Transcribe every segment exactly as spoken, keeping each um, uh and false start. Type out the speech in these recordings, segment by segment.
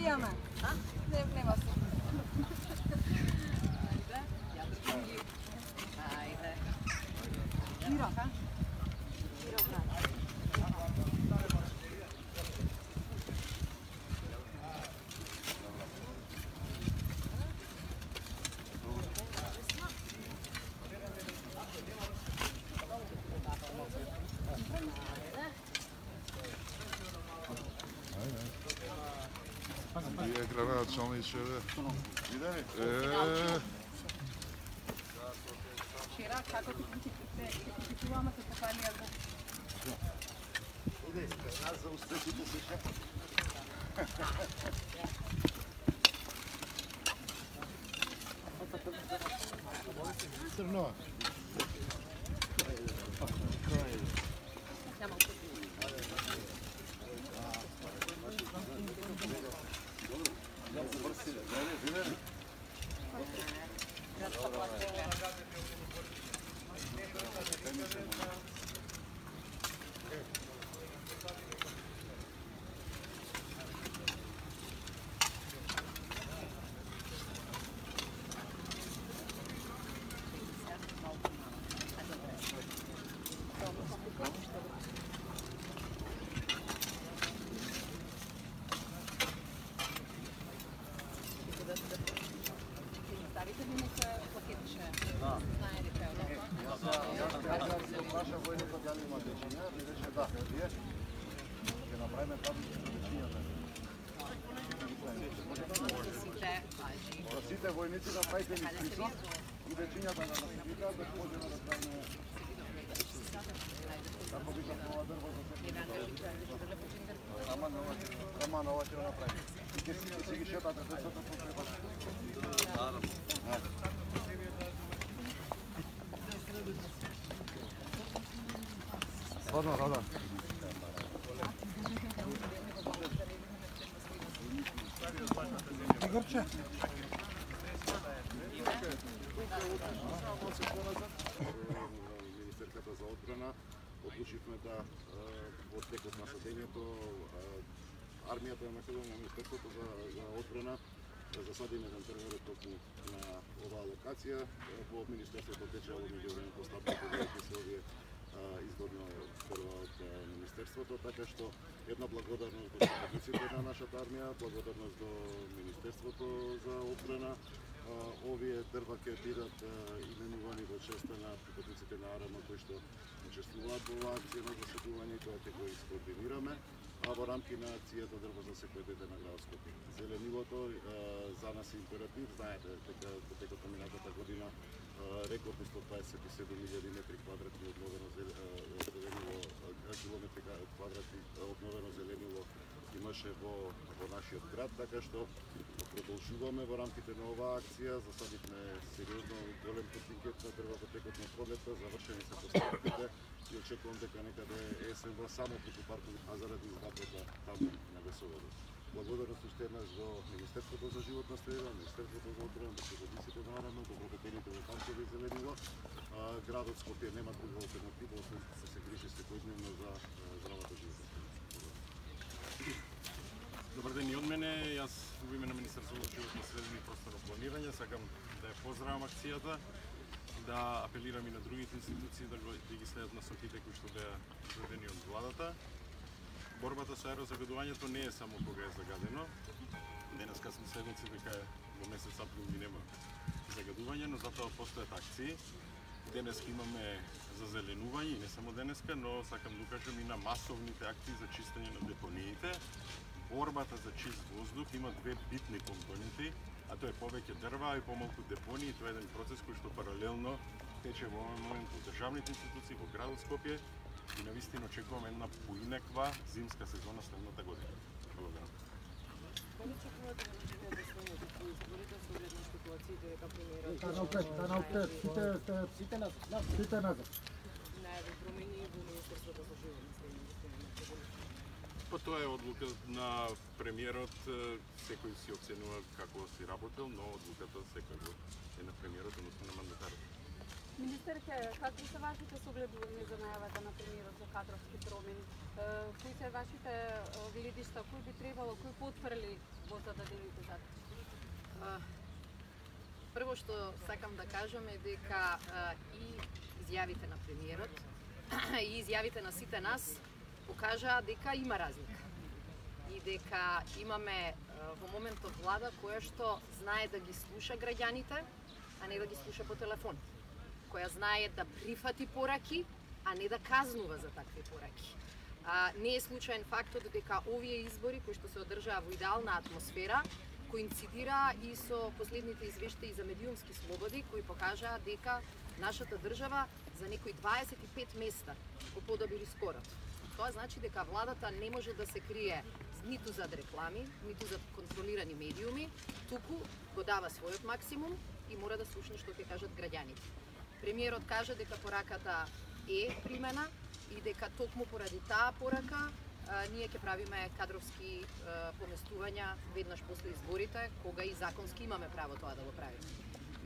Јаме. А? Не, нема се. Ајде. Киро, ка? Киро, брат. Вие гранат Чалничеве. Видели? Е. Вчера како ти купуваме се поканија за. Иде, нас за успехите се шефот. Црно. Сите војници да правите ни список и вечињата да се викаат да можеме да правиме. Како би нова дрво за секој. Ама нова, ама нова ќе направи. И ќе си ги шетате децата по треба. Наравно. Родно, родно. Игорче. Министерката за одбрана одлучивме да во текот на садењето армијата на Македонија, Министерството за, за одбрана да засадиме еден терминот токму на оваа локација. Во Министерството тече во меѓувреме постапките да се овие изгодно прва од Министерството, така што една благодарност до работниците на нашата армија, благодарност до Министерството за одбрана. Овие дрва ќе бидат именувани во честа на припадниците на АРМ кои што учествуваат во оваа акција на засадување и тоа ќе го искоординираме, а во рамки на акцијата дрво за секој дете на град Скопје. Зеленилото за нас е императив, знаете дека во текот на минатата година рекордни сто дваесет и седум илјади метри квадратни обновено зеленило, километри квадратни обновено зеленило имаше во, во нашиот град, така што продолжуваме во рамките на оваа акција. Засадивме сериозно голем контингент на дрва во текот на пролетта, завршени се постапките и очекувам дека некаде есенва само преку паркови, а заради изградбата таму на Весоводот. Благодарност уште еднаш до Министерството за животна средина, Министерството за одбрана, припадниците на АРМ, добродетелите во паркови и зеленило. Градот Скопје нема друга алтернатива, освен да се грижи секојдневно за здравата животна. Добар ден и од мене. Јас во име на Министерството за животна средина и просторно планирање сакам да ја поздравам акцијата, да апелирам и на другите институции да, го, да ги следат насоките кои што беа изведени од владата. Борбата со аерозагадувањето не е само кога е загадено. Денеска сме седници дека во месец април ми нема загадување, но затоа постојат акции. Денеска имаме зазеленување и не само денеска, но сакам да кажам и на масовните акции за чистење на депониите. Борбата за чист воздух има две битни компоненти, а тоа е повеќе дрва и помалку депонии. Тоа е еден процес кој што паралелно тече во овој момент во државните институции во градот Скопје и навистина очекуваме една поинаква зимска сезона следната година. Благодарам. Коли очекувате да можете да станете по изборите со оглед на ситуациите дека премиерот Та напред, та напред, сите сите назад, сите назад. најавил промени во Министерството за животна средина? Па тоа е одлука на премиерот, секој си оценува како си работел, но одлуката секој е на премиерот, односно на мандатарот. Министерке, какви се вашите согледувања за најавата на премиерот за кадровски промени? кои се вашите гледишта, кој би требало, кој потврли во за да делите заклучок? Прво што сакам да кажам е дека и изјавите на премиерот и изјавите на сите нас покажаа дека има разлика и дека имаме во моментот влада која што знае да ги слуша граѓаните, а не да ги слуша по телефон, која знае да прифати пораки, а не да казнува за такви пораки. А, не е случаен фактот дека овие избори кои што се одржаа во идеална атмосфера коинцидира и со последните извештаи за медиумски слободи кои покажаа дека нашата држава за некои дваесет и пет места го подобри скорот. Тоа значи дека владата не може да се крие ниту зад реклами, ниту зад контролирани медиуми, туку го дава својот максимум и мора да слушне што ќе кажат граѓаните. Премиерот кажа дека пораката е примена и дека токму поради таа порака а, ние ќе правиме кадровски а, поместувања веднаш после изборите, кога и законски имаме право тоа да го правиме.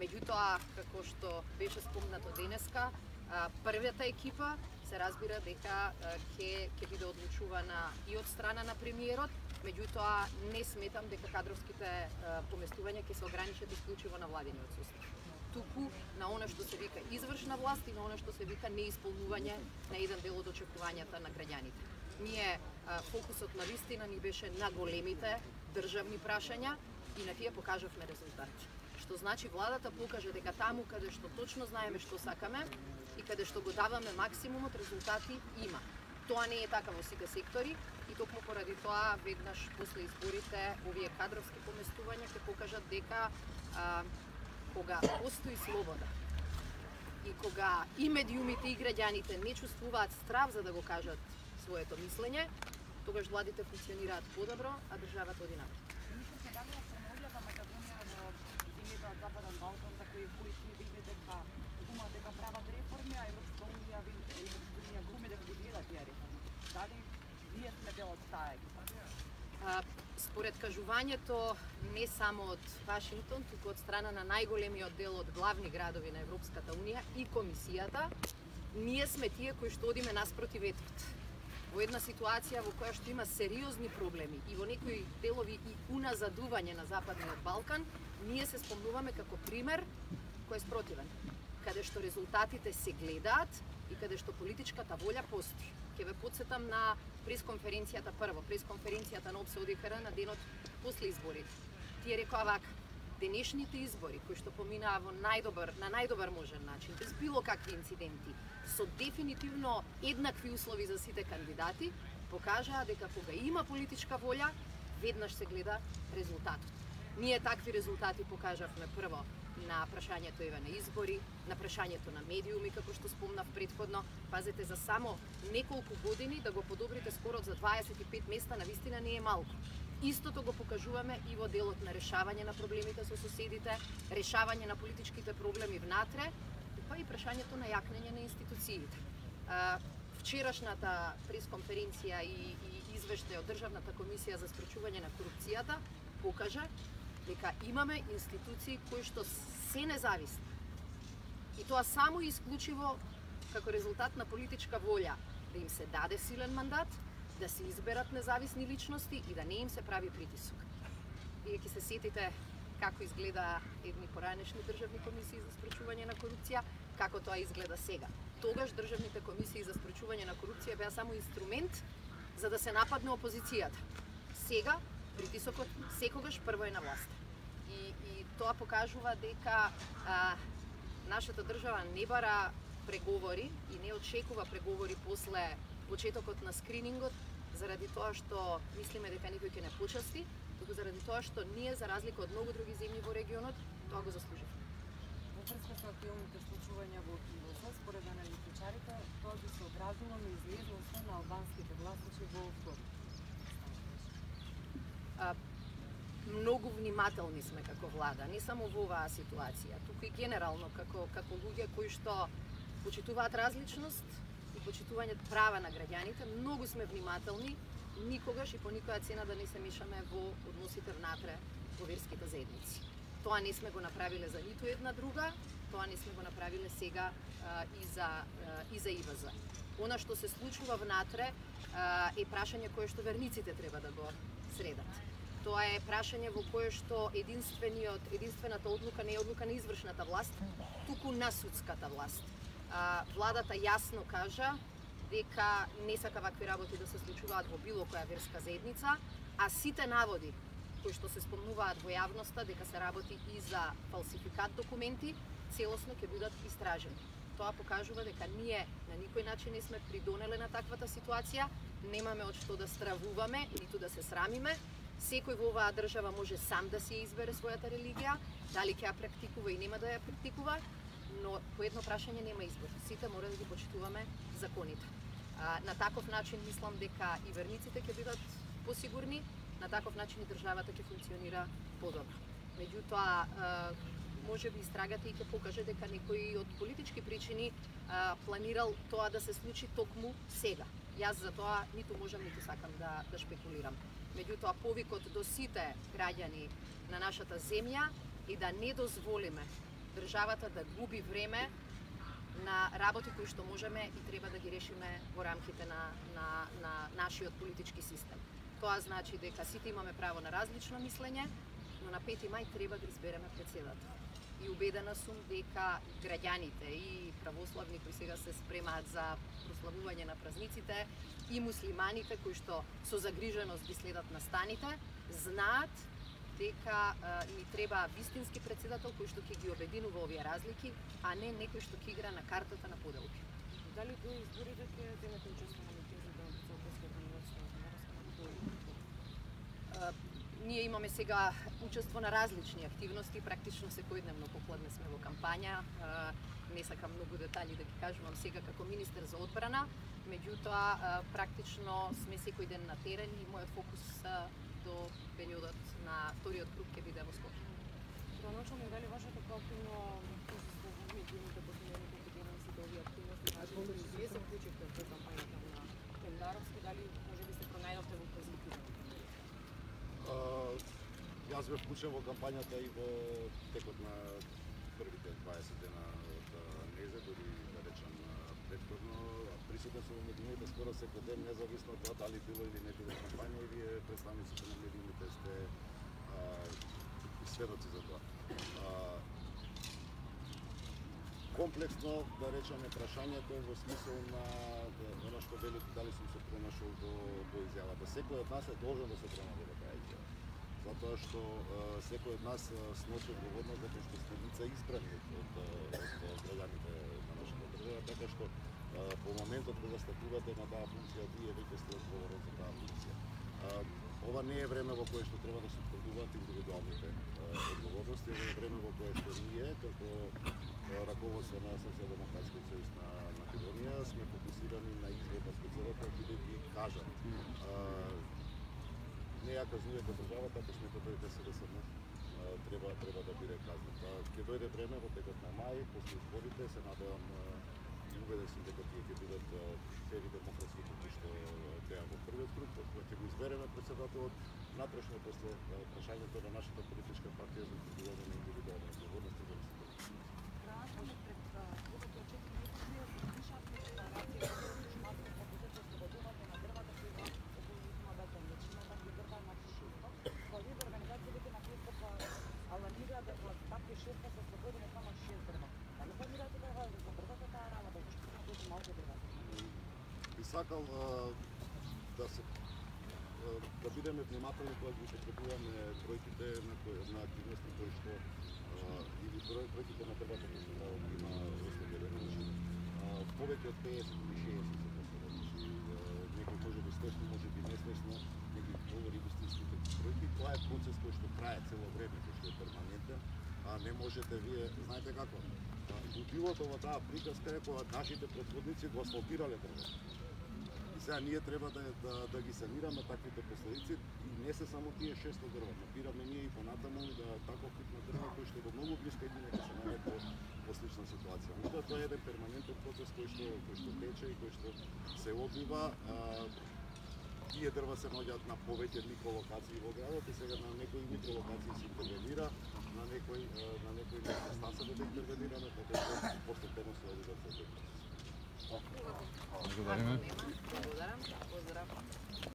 Меѓутоа, како што беше спомнато денеска, а, првата екипа се разбира дека ќе ќе биде одлучувана и од страна на премиерот, меѓутоа не сметам дека кадровските а, поместувања ќе се ограничат исклучиво на владиниот сустав, туку на она што се вика извршна власт и на она што се вика неисполнување на еден дел од очекувањата на граѓаните. Ние а, фокусот на вистина ни беше на големите државни прашања и на тие покажавме резултати. Што значи владата покажа дека таму каде што точно знаеме што сакаме и каде што го даваме максимумот, резултати има. Тоа не е така во сите сектори и токму поради тоа веднаш после изборите овие кадровски поместувања ќе покажат дека а, кога постои слобода и кога и медиумите и граѓаните не чувствуваат страв за да го кажат своето мислење, тогаш владите функционираат подобро, а државата оди напред. Западен Балкан, за кои кои си види дека има дека прават реформи, а Европска унија ви Европска унија гуми дека ги гледа тие реформи. Дали вие сме дел од таа екипа? Според кажувањето не само од Вашингтон, туку од страна на најголемиот дел од главни градови на Европската унија и комисијата, ние сме тие кои што одиме наспроти ветрот. Во една ситуација во која што има сериозни проблеми и во некои делови и уназадување на Западниот Балкан, ние се спомнуваме како пример кој е спротивен, каде што резултатите се гледаат и каде што политичката волја постои. Ќе ве потсетам на пресконференцијата прво, пресконференцијата на ОПСЕ ОДИХР на денот после изборите. Тие рекоа вака: денешните избори кои што поминаа во најдобар на најдобар можен начин, без било какви инциденти, со дефинитивно еднакви услови за сите кандидати, покажаа дека кога има политичка волја, веднаш се гледа резултатот. Ние такви резултати покажавме прво на прашањето еве на избори, на прашањето на медиуми, како што спомнав претходно. Пазете, за само неколку години да го подобрите скорот за дваесет и пет места навистина не е малку. Истото го покажуваме и во делот на решавање на проблемите со соседите, решавање на политичките проблеми внатре, па и прашањето на јакнење на институциите. Вчерашната пресконференција и, и извештај од Државната комисија за спречување на корупцијата покажа дека имаме институции кои што се независни. И тоа само и исклучиво како резултат на политичка волја да им се даде силен мандат, да се изберат независни личности и да не им се прави притисок. Вие ќе се сетите како изгледа едни поранешни државни комисии за спречување на корупција, како тоа изгледа сега. Тогаш државните комисии за спречување на корупција беа само инструмент за да се нападне опозицијата. Сега притисокот секогаш прво е на власта. И, и тоа покажува дека а, нашата држава не бара преговори и не очекува преговори после почетокот на скринингот, заради тоа што мислиме дека никој ќе не почасти, туку заради тоа што ние, за разлика од многу други земји во регионот, тоа го заслуживме. Во врска со актуелните случувања во Кивоса, според аналитичарите, тоа би се одразило на излезноста на албанските гласачи во вторник. Многу внимателни сме како влада, не само во оваа ситуација, туку и генерално како како луѓе кои што почитуваат различност и почитување права на граѓаните. Многу сме внимателни, никогаш и по никоја цена да не се мешаме во односите внатре во верските заедници. Тоа не сме го направиле за ниту една друга, тоа не сме го направиле сега а, и за а, и за ИВЗ. Она што се случува внатре е прашање кое што верниците треба да го средат. Тоа е прашање во кое што единствениот, единствената одлука не е одлука на извршната власт, туку на судската власт. Владата јасно кажа дека не сака вакви работи да се случуваат во било која верска заедница, а сите наводи кои што се спомнуваат во јавноста дека се работи и за фалсификат документи, целосно ќе бидат истражени. Тоа покажува дека ние на никој начин не сме придонеле на таквата ситуација, немаме од што да стравуваме, ниту да се срамиме. Секој во оваа држава може сам да си избере својата религија, дали ќе ја практикува и нема да ја практикува, но по едно прашање нема избор. Сите мора да ги почитуваме законите. А, на таков начин мислам дека и верниците ќе бидат посигурни, на таков начин и државата ќе функционира подобро. Меѓутоа, може би истрагата и ќе покаже дека некој од политички причини а, планирал тоа да се случи токму сега. Јас за тоа ниту можам, ниту сакам да, да шпекулирам. Меѓутоа, повикот до сите граѓани на нашата земја и да не дозволиме државата да губи време на работи кои што можеме и треба да ги решиме во рамките на, на, на нашиот политички систем. Тоа значи дека сите имаме право на различно мислење, но на пети мај треба да избереме председател. И убедена сум дека граѓаните и православни кои сега се спремаат за прославување на празниците и муслиманите кои што со загриженост ги следат настаните, знаат дека а, ни треба вистински председател кој што ќе ги обединува овие разлики, а не некој што ќе игра на картата на поделки. Дали до изборите ќе земете учество на митинзи да се обесвете на Ние имаме сега учество на различни активности, практично секојдневно попладне сме во кампања. Не сакам многу детали да ги кажувам сега како министер за одбрана, меѓутоа практично сме секој ден на терен и мојот фокус до периодот на вториот круг ќе биде во Скопје. Проначално дали вашето проактивно присуство во медиумите последните неколку дена сите овие активности, значи вие се вклучивте во кампањата на Темдаровски, дали може би се пронајдовте во позитива? Јас бев вклучен во кампањата и во текот на првите дваесет дена од Незе, дори да речам претходно. Присутен сум во медиумите скоро секој ден, независно од тоа дали било или не било кампања, и вие представниците на медиумите сте сведоци за тоа. А, комплексно, да речеме, прашањето во смисол на она што велите дали сум се пронашол во, во изјавата. Секој од нас е должен да се пронајде во таа изјава. Затоа што а, секој од нас сноси одговорност дека што сте лица избрани од, од, од граѓаните на нашата држава, така што а, по моментот кога стапувате на таа функција, вие веќе сте одговорни за таа функција. А, ова не е време во кое што треба да се утврдуваат индивидуалните а, одговорности, ова е време во кое што ние, како раководство на Социјалдемократскиот сојуз на Македонија, сме фокусирани на избор на председател, бидејќи кажат. Не ја казнувате државата, ако сметате дека се десетно треба треба да биде казнет. Ќе дојде време во текот на мај, после изборите, се надевам и убеден сум дека тие ќе бидат фери демократски кои што беа во првиот круг, кога ќе го избереме председателот, натрешно после прашањето на нашата политичка партија за утврдување на индивидуални одговорности за би сакал да се да бидеме внимателни кога ги употребуваме бројките на, на активности кои што или бројките на дрвата кои што има ослободено. Повеќе од пеесет или шеесет се поставени. Некој може би свесно, може би несвесно, не ги говори вистинските бројки. Тоа е процес кој што трае цело време, кој што е перманентен, а не можете вие, знаете како, Мотивото во таа приказка е кога нашите претходници го асфалтирале дрвото. И сега ние треба да, да, да ги санираме таквите последици, и не се само тие шест дрва. Напираме ние и понатаму да таков тип на дрва кој што е во многу блиска и нека се најде по, по слична ситуација. Но тоа е еден перманентен процес кој што, кој што тече и кој што се одвива. А, тие дрва се наоѓаат на повеќе микролокации во градот и сега на некои микролокации се интервенира, на некои на некои места се да интервенираме, така што постепено се одвива се. Благодариме. Благодарам. Поздрав.